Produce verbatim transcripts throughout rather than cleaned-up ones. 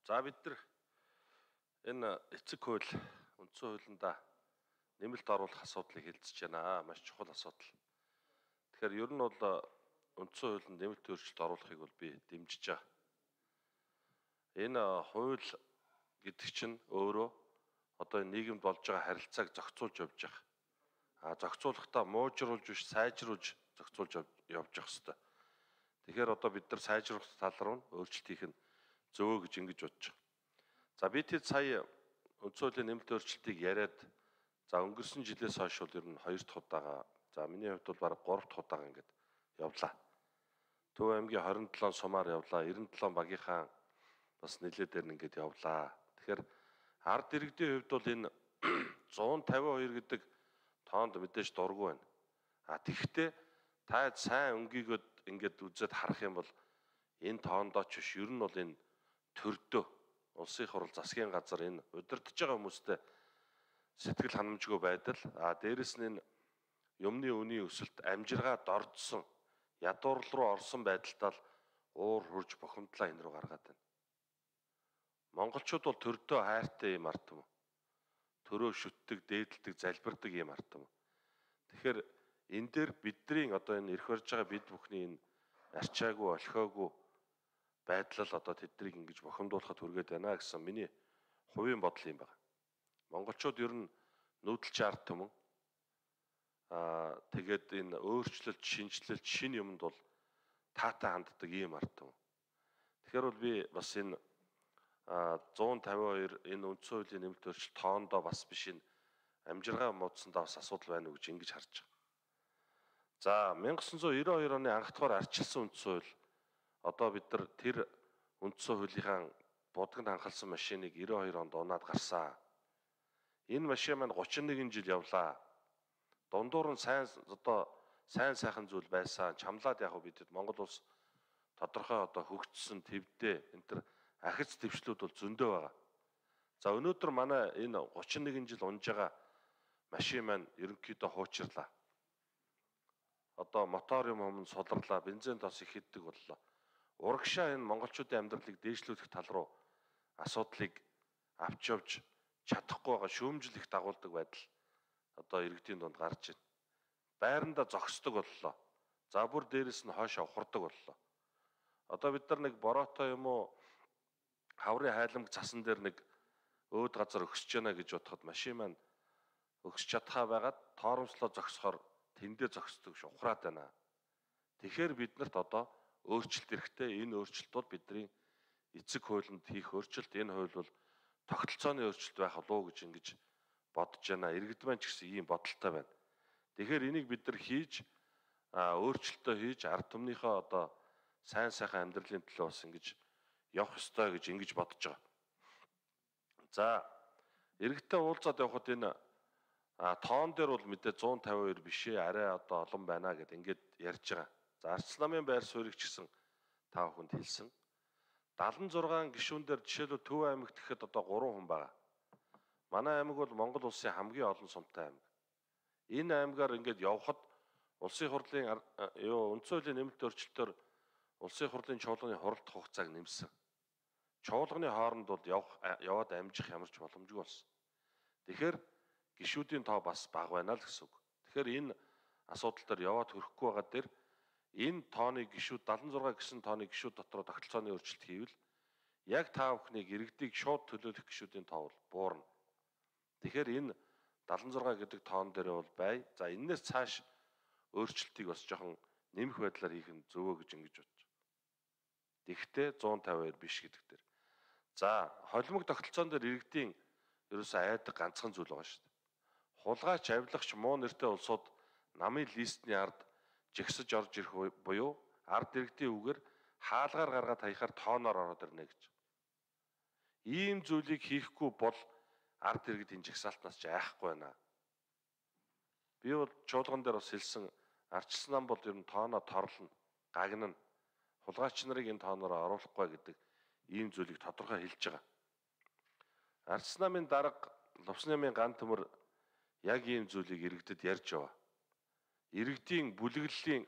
За бид нар энэ эцэг хууль үндсэн хуулиндаа нэмэлт оруулах асуудлыг хэлцэж байна. Маш чухал асуудал. Тэгэхээр ер нь бол үндсэн хуулинд нэмэлт өөрчлөлт оруулахыг бол би дэмжиж байгаа. Энэ хууль гэдэг чинь өөрөө одоо энэ нийгэмд болж байгаа харилцааг зохицуулж явж байгаа. А зохицуулахдаа муужруулж биш сайжруулж зохицуулж явж явах хэрэгтэй. Тэгэхээр одоо бид нар сайжруулах тал руу өөрчлөлт хийх нь зөвөө гэж ингэж бодож байгаа. За би тэд сая үндсэн хуулийн нэмэлт өөрчлөлтийг яриад за өнгөрсөн жилээс хойш бол ер нь хоёр дахь удаага, за миний хувьд бол бараг гурав дахь удаага ингээд явлаа. Төв аймгийн хорин долоон сумаар явлаа, найман долоон багийнхаа бас нэлээдээр нь ингээд явлаа. Тэгэхээр ард иргэдийн хувьд бол энэ зуун тавин хоёр гэдэг тоонд мэдээж дургүй байна. А тэгэхдээ та сайн өнгийгөд ингээд үзээд харах юм бол энэ тоондоо ч биш, ер нь бол энэ төрдөө улсын хурал засгийн газар энэ удирдах байгаа хүмүүстэй сэтгэл ханамжгүй байдал, а дээрэс нь энэ юмны үнийн өсөлт амжиргаа дордсон ядуурл руу орсон байдалтай л уур хурж бохимдлаа энэ рүү гаргаад байна. Монголчууд бол төрдөө хайртай юм ард юм. Төрөө шүтдэг, дээдэлдэг, залбирдаг юм ард юм. Тэгэхээр энэ дээр бидний одоо энэ ирэх барьж байгаа бид бүхний энэ арчаагүй, олхиогүй байдал одоо тэднийг ингэж бохимдуулахад хүргээд байна гэсэн миний хувийн бодол юм байна. Монголчууд ер нь нүүдэлч ард түмэн аа тэгээд энэ өөрчлөлт, шинжилэлт, шин юмд бол таатай ханддаг ийм ард түмэн. Тэгэхээр бол би бас энэ зуун тавин хоёр энэ үндсэн хуулийн нэмэлт өөрчлөлт тоондоо бас биш энэ амжиргаа муудсандаа бас асуудал байна уу гэж ингэж харж байгаа. За мянга тоғыз жүз девяносто хоёр оны анх дахь арчилсан үндсэн хууль одоо бид нар тэр үндсэн хуулийнхаа будагт анхалсан машиныг девяносто хоёр онд унаад гарсан. Энэ машин маань гучин нэгэн жил явлаа. Дундуур нь сайн одоо сайн сайхан зүйл байсан. Чамлаад яг бидэд Монгол улс тодорхой одоо хөгжсөн твдээ энэ төр ахиц твшлүүд бол зөндөө байгаа. За өнөөдөр манай энэ гучин нэгэн жил унж байгаа машин маань ерөнхийдөө хуучирлаа. Одоо мотор юм өмнө суларлаа, бензин тос их иддэг боллоо. Урагшаа энэ монголчуудын амьдралыг дээшлүүлэх тал руу асуудлыг авч явж чадахгүй байгаа шүүмжил их дагуулдаг байдал одоо иргэдийн дунд гарч байна. Байранда зогсдог боллоо. За бүр дээрэс нь хойшоо ухардаг боллоо. Одоо бид нар нэг бороотой юм уу хаврын хайламг цасан дээр нэг өөд газар өгсөж яана гэж бодоход машин маань өгсөж чадхаа байгаад тоормслоо зогсохоор тэндээ зогсдог ш ухраад байна. Тэгэхээр биднэрт одоо өөрчлөлт хэрэгтэй. Энэ өөрчлөлт бол бидний эцэг хуулинд хийх өөрчлөлт. Энэ хууль бол тогтолцооны өөрчлөлт байх болов гэж ингэж бодож байна. Иргэд маань ч гэсэн ийм бодолтой байна. Тэгэхээр энийг бид нар хийж өөрчлөлтөө хийж ард түмнийхөө одоо сайн сайхан амьдралын төлөө бас ингэж явах ёстой гэж ингэж бодож байгаа. За иргэдтэй уулзаад явхад энэ тоон дээр бол мэдээ зуун тавин хоёр биш ээ, арай одоо олон байна гэд ингэж ярьж байгаа. За Арчил намын байр суурийг ч гэсэн та бүхэнд хэлсэн. дадлан зургаан гишүүн дээр жишээлбэл Төв аймагт гэхэд одоо гурван хүн байгаа. Манай аймаг бол Монгол улсын хамгийн олон сумтай аймаг. Энэ аймагаар ингэж явхад улсын хурлын юу үндсэн хуулийн нэмэлт өөрчлөлтөөр улсын хурлын чуулганы хуралдах хугацааг нэмсэн. Чуулганы хооронд бол явах яваад амжих ямар ч боломжгүй болсон. Тэгэхээр гишүүдийн тоо бас бага байна л гэсэн үг. Тэгэхээр энэ асуудал дээр яваад хүрэхгүй байгаа дээр энэ тооны гишүүд дадлан зургаан гэсэн тооны гишүүд дотор тогтолцооны өөрчлөлт хийвэл яг та бүхнийг иргэдийг шууд төлөөлөх гишүүдийн тоо бол буурна. Тэгэхээр энэ дадлан зургаан гэдэг тоон дээр бол бай. За энэс цааш өөрчлөлтийг бас жоохон нэмэх байдлаар хийх нь зөвөө гэж ингэж бодож байна. Тэгвэл зуун тавин хоёр биш гэдэг дээр. За холимог тогтолцоон дээр иргэдийн ерөөсөө айдаг ганцхан зүйл байгаа шүү дээ. Хулгайч, авилагч, муу нэртэй улсууд намын листний ард жигсэж орж ирэх буюу ард иргэдийн үгээр хаалгаар гаргаад хаяхаар тооноор ороод ирнэ гэж. Ийм зүйлийг хийхгүй бол ард иргэд энэ жигсаалтнаас ч айхгүй байна. Би бол чуулган дээр бас хэлсэн, Арчил нам бол ер нь тооноо торлно, гагнана. Хулгайч нарыг энэ тооноор оруулахгүй гэдэг ийм зүйлийг тодорхой хэлж байгаа. Арчил намын дарга Лувсан намын ган төмөр яг ийм зүйлийг иргэдэд ярьж яваа. Иргэдийн бүлэглэлийн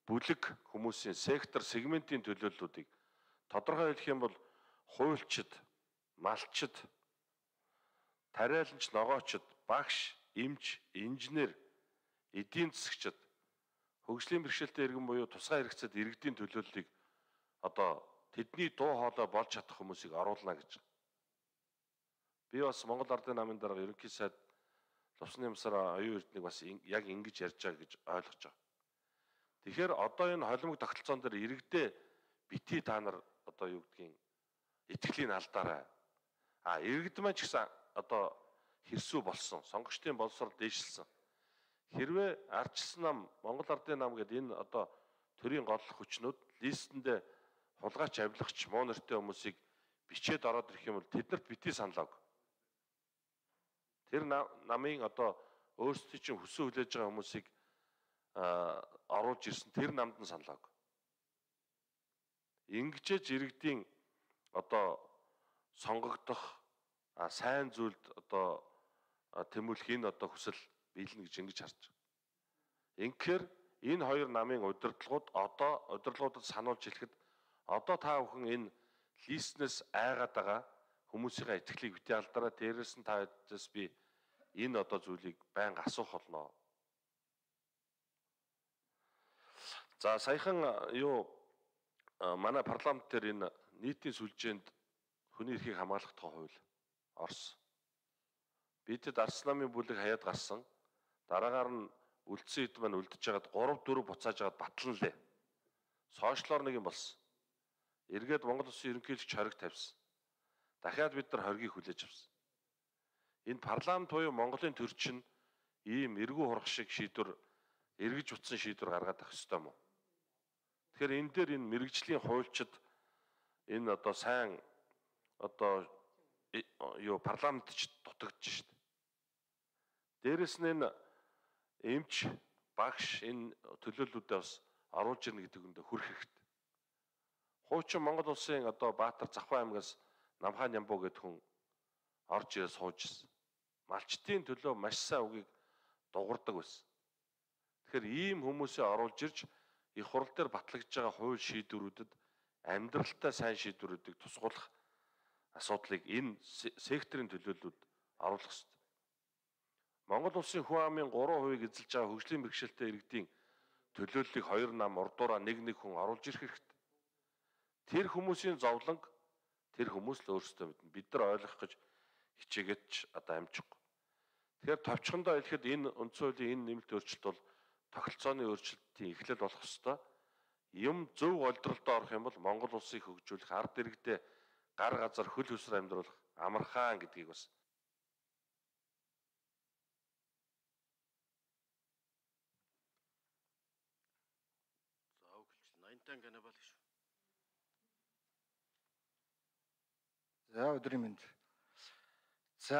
бүлэг хүмүүсийн сектор сегментийн төлөөллүүдийг тодорхой хэлэх юм бол хуульчид, малчид, тариаланч ногоочд, багш, эмч, инженер, эдийн засагчид, хөгжлийн бэрхшээлтэй иргэн буюу тусгай хэрэгцээд иргэдийн төлөөллийг одоо тэдний дуу хоолой болж чадах хүмүүсийг оруулна гэж. Би бас Монгол Ардын намын дарга ерөнхий сайд Лувсны Ямсаар оюун эрднийг бас яг ингэж ярьж байгаа гэж ойлгож байгаа. Тэгэхээр одоо энэ холимог тогтолцоон дээр иргэдээ битгий та нар одоо юу гэдгийг итгэлийн алдаарай. А иргэд маань ч гэсэн одоо хэрсүү болсон, сонгогчдын боловсрол дээшилсэн. Хэрвээ ардчилсан нам, Монгол Ардын нам гэдэг энэ одоо төрийн гол хүчнүүд листэндээ хулгайч, авилгач, муу нэртэй хүмүүсийг бичээд ороод ирэх юм бол тэднэрт битгий санал ог. Тэр намын одоо өөрсдийн чинь хүссэн хүлээж байгаа хүмүүсийг оруулж ирсэн тэр намд нь санал ог. Ингэжээж иргэдийн одоо сонгогдох сайн зүйлд одоо тэмүүлэх энэ одоо хүсэл биелнэ гэж ингэж харж байгаа. Ингэхээр энэ хоёр намын удирдлагууд одоо удирдлагуудад сануулж хэлэхэд одоо та бүхэн энэ листнээс айгаад байгаа хүмүүсийн итгэлийг битгий алдараа, дээрээс нь та хэдээс би энэ одоо зүйлийг байнга асуух болно. За саяхан юу манай парламент дээр энэ нийтийн сүлжээнд хүний эрхийг хамгаалах тухай хууль орсон. Бидэд Арс намын бүлэг хаяад гарсан. Дараагаар нь үлдсэн хэд маань үлдэж байгаад гурав дөрөв буцааж аваад батланлээ. Сошиалор нэг юм болсон. Эргээд Монгол Улсын ерөнхийлөгч хориг тавьсан. Дахиад бид нар хоригийг хүлээж авсан. Энэ парламент буюу Монголын төрчин ийм эргүү хурах шиг шийдвэр, эргэж утсан шийдвэр гаргаад авах ёстой юм уу? Тэгэхээр энэ дээр энэ мэрэгжлийн хуульчид энэ одоо сайн одоо юу парламентч дутагдж шít. Дээрэс нь энэ эмч, багш энэ төлөөллүүдээ бас оруулж ирнэ гэдэг үндэ хүрх хэрэгтэй. Хуучин Монгол Улсын одоо Баатар Завхан аймгаас Намхан Нямбуу гэдэг хүн орж ирээ сууж ирсэн. Малчтын төлөө маш сайн үгийг дуурдаг байсан. Тэгэхээр ийм хүмүүсээ оруулж ирж их хурл дээр батлагдж байгаа хууль шийдвэрүүдэд амьдралтай сайн шийдвэрүүдийг тусгуулах асуудлыг энэ секторын төлөөллүүд оруулах ёстой. Монгол Улсын хүн амын гурван хувийг эзэлж байгаа хөгжлийн бэрхшээлтэй иргэдийн төлөөллийг хоёр нам урдуураа нэг нэг хүн оруулж ирэх хэрэгтэй. Тэр хүмүүсийн зовлонг тэр хүмүүс л өөрсдөө мэднэ. Бид нар ойлгох гэж хичээгээд ч одоо амжихгүй. Тэгэхээр товчхондоо хэлэхэд энэ үндсэн хуулийн энэ нэмэлт өөрчлөлт бол тогтолцооны өөрчлөлтийн эхлэл болох ёстой. Юм зөв голдролдоо орох юм бол Монгол улсыг хөгжүүлэх, ард иргэдээ гар газар хөл хөсөр амьдруулах амархан гэдгийг бас За өглөө найман канабал шүү. За өдрийн мэнд. За